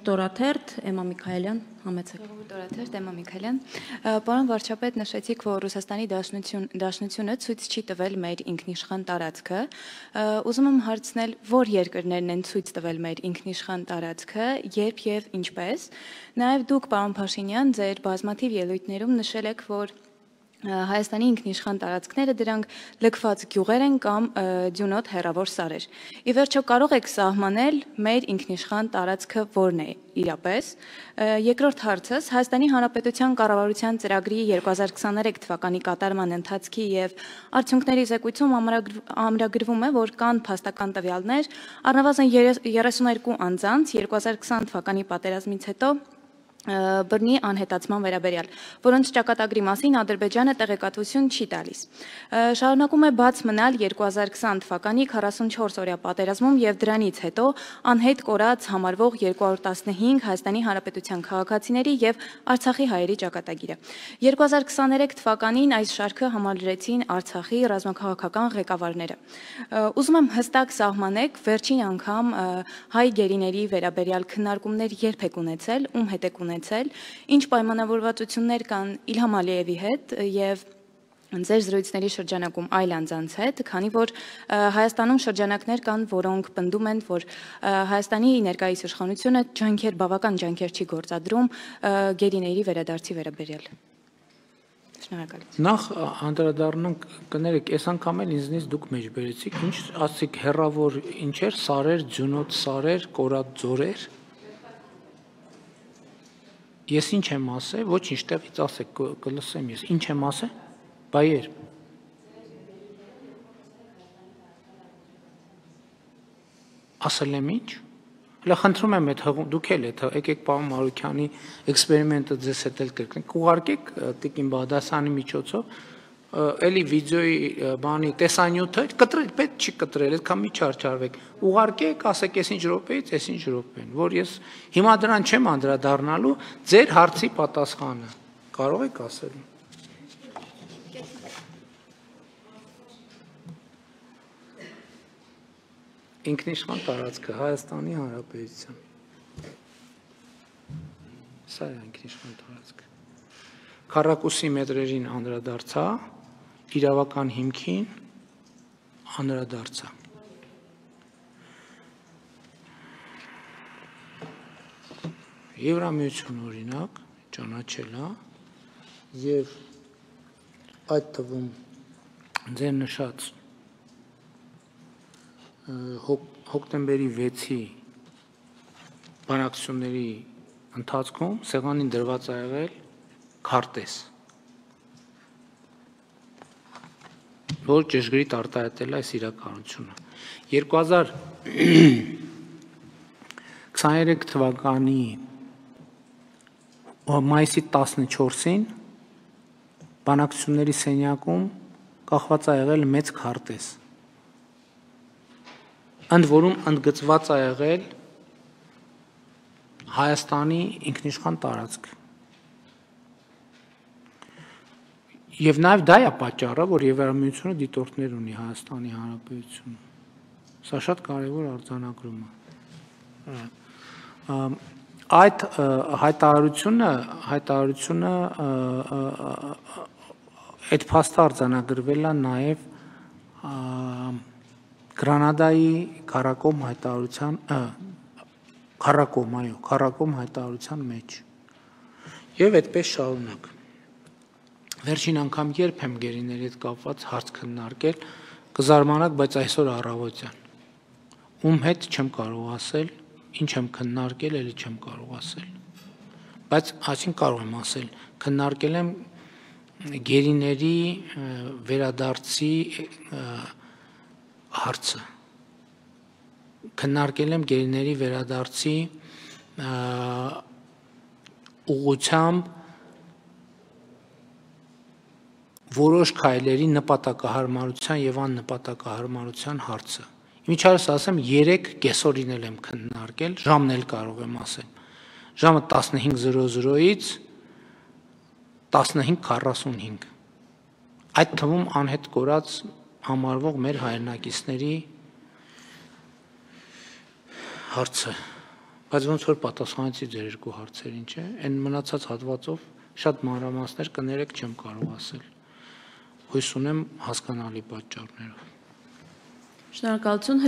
Ժողովուրդ օրաթերթ, Էմմա Միքայելյան, համեցեք։ Ժողովուրդ օրաթերթ, Էմմա Միքայելյան, պարոն վարչապետ, նշեցիք, որ Ռուսաստանի Դաշնությունը ցույց չի տվել մեր ինքնիշխան տարածքը։ Ուզում եմ հարցնել, որ երկրներն են ցույց տվել մեր ինքնիշխան տարածքը, երբ եւ ինչպես։ Նաեւ դուք, պարոն Փաշինյան, ձեր բազմաթիվ ելույթներում նշել եք, որ Հայաստանի ինքնիշխան տարածքները դրանք լքված գյուղեր են կամ դյունոտ հեռավոր սարեր։ Ի վերջո կարող եք սահմանել մեր ինքնիշխան տարածքը որն է իրապես։ Երկրորդ հարցս Հայաստանի Հանրապետության կառավարության ծրագրի 2023 թվականի կատարման ընթացքի եւ արդյունքների զեկույցում ամրագրվում է, որ կան փաստական տվյալներ առնվազն 32 անձանց 2020 թվականի պատերազմից հետո բռնի անհետացման վերաբերյալ, որոնց ճակատագրի մասին Ադրբեջանը տեղեկատվություն չի տալիս։ Շարունակում է բաց մնալ 2020 թվականի 44-օրյա պատերազմում եւ դրանից հետո անհետ կորած համարվող 215 Հայաստանի Հանրապետության քաղաքացիների եւ Արցախի հայերի ճակատագիրը։ 2023 թվականին այս շարքը համալրեցին Արցախի ռազմաքաղաքական ղեկավարները։ Ուզում եմ հստակ սահմանեք վերջին անգամ հայ գերիների վերաբերյալ քննարկումներ երբ եք ունեցել, ում հետ եք ունեցել, ինչ պայմանավորվածություններ կան Իլհամ Ալիևի հետ եւ ձեր զրույցների շրջանակում այլ անձանց հետ, քանի որ Հայաստանում շրջանակներ կան, որոնք պնդում են, որ Հայաստանի ներկայիս իշխանությունը բավական ջանքեր չի գործադրում գերիների վերադարձի վերաբերյալ։ Շնորհակալություն։ Նախ անդրադառնանք կներեք, այս անգամ էլ ինձնից դուք մեջ բերեցիք, ինչ ասացիք հեռավոր ինչեր, սարեր, ձյունոտ սարեր, կորած ձորեր։ Ես ինչ եմ ասել, ոչինչ տեղից ասեք, կլսեմ ես, ինչ եմ ասել, բայեր։ Ասել եմ ինչ։ Հələ խնդրում եմ այդ դուք էլ եկեք պարոն Մարուքյանի էքսպերիմենտը ձեզ հետ էլ կրկնենք, ուղարկեք Տիկին Բադասյանի միջոցով, էլի վիդեոյի բանի տեսանյութը կտրել, պետք չի կտրել, այդքան մի չարչարվեք, ուղարկեք, ասեք այս ինչ րոպեից, այս ինչ րոպեն, որ ես հիմա դրան չեմ անդրադառնալու, ձեր հարցի պատասխանը կարող եք ասել։ Ինքնիշխան տարածքը Հայաստանի Հանրապետության։ Սա է ինքնիշխան տարածքը։ Քառակուսի մետրերին անդրադարձա, իրավական հիմքին անդրադարձա։ Եվրամիություն օրինակ ճանաչել է եւ այդ թվում ձեր նշած հոկտեմբերի 6-ի բանակցությունների ընթացքում սեղանին դրված ա եղել քարտեզ, որ ճշգրիտ արտահայտել է այս իրականությունը։ 2023 թվականի մայիսի 14-ին բանակցությունների սենյակում կախված ա եղել մեծ քարտեզ, ընդ որում ընդգծված ա եղել Հայաստանի ինքնիշխան տարածքը։ Եվ նաև դա է պատճառը, որ Եվրամիությունը դիտորդներ ունի Հայաստանի Հանրապետությունում։ Սա շատ կարևոր արձանագրում է։ Այդ հայտարարությունը այդ փաստը արձանագրվել է նաև Գրանադայի քառակոմ հայտարարության մեջ։ Եվ այդպես շարունակ։ Վերջին անգամ երբ եմ գերիների հետ կապված հարց քննարկել, կզարմանաք, բայց այսօր առավոտյան։ Ում հետ չեմ կարող ասել, ինչ եմ քննարկել, էլի չեմ կարող ասել։ Բայց այսին կարող եմ ասել, քննարկել եմ գերիների վերադարձի հարցը, քննարկել եմ գերիների վերադարձի ուղղությամբ որոշ քայլերի նպատակահարմարության եւ աննպատակահարմարության հարցը։ Ինչարս ասեմ 3 կեսօրին եմ քննարկել, ժամն էլ կարող եմ ասել։ Ժամը 15:00-ից 15:45։ Այդ թվում անհետ կորած համարվող մեր հայրենակիցների հարցը Բայց ոնց որ պատասխանեցի ձեր երկու հարցերին, չէ՞։ Այն մնացած հատվածով շատ մանրամասներ կներեք չեմ կարող ասել։ Հույս ունեմ հասկանալի պատճառներով։ Շնորհակալություն։